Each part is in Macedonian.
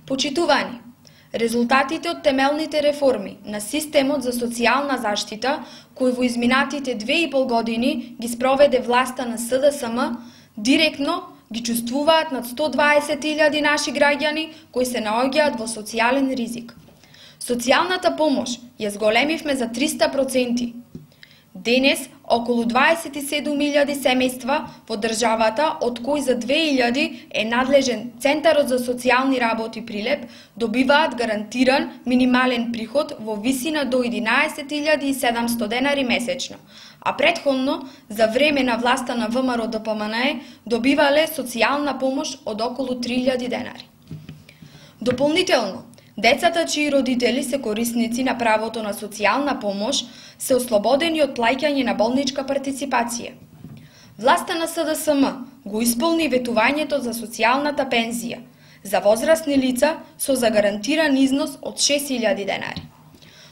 Почитувани, резултатите од темелните реформи на системот за социјална заштита, кој во изминатите 2,5 години ги спроведе власта на СДСМ, директно ги чувствуваат над 120.000 наши граѓани кои се наоѓаат во социјален ризик. Социјалната помош ја зголемивме за 300%. Денес, околу 27.000 семејства во државата, од кои за 2.000 е надлежен Центарот за социјални работи Прилеп, добиваат гарантиран минимален приход во висина до 11.700 денари месечно, а претходно, за време на власта на ВМРО-ДПМНЕ, добивале социјална помош од околу 3.000 денари. Дополнително, децата чии родители се корисници на правото на социјална помош се ослободени од плаќање на болничка партиципација. Власта на СДСМ го исполни ветувањето за социјалната пензија за возрастни лица со загарантиран износ од 6.000 денари.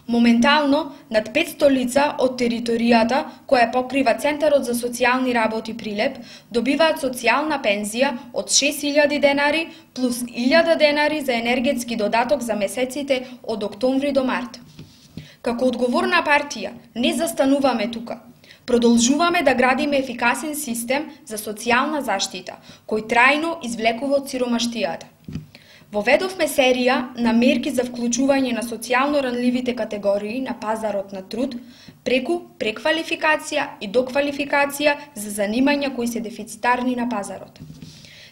Моментално, над 500 лица од територијата која покрива Центарот за социјални работи Прилеп добиваат социјална пензија од 6.000 денари плюс 1.000 денари за енергетски додаток за месеците од октомври до март. Како одговорна партија не застануваме тука. Продолжуваме да градиме ефикасен систем за социјална заштита, кој трајно извлекува од сиромаштијата. Воведовме серија на мерки за вклучување на социјално ранливите категории на пазарот на труд преку преквалификација и доквалификација за занимања кои се дефицитарни на пазарот.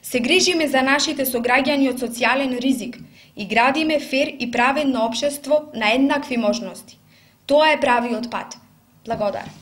Се грижиме за нашите сограѓани од социјален ризик и градиме фер и праведно општество на еднакви можности. Тоа е правиот пат. Благодарам.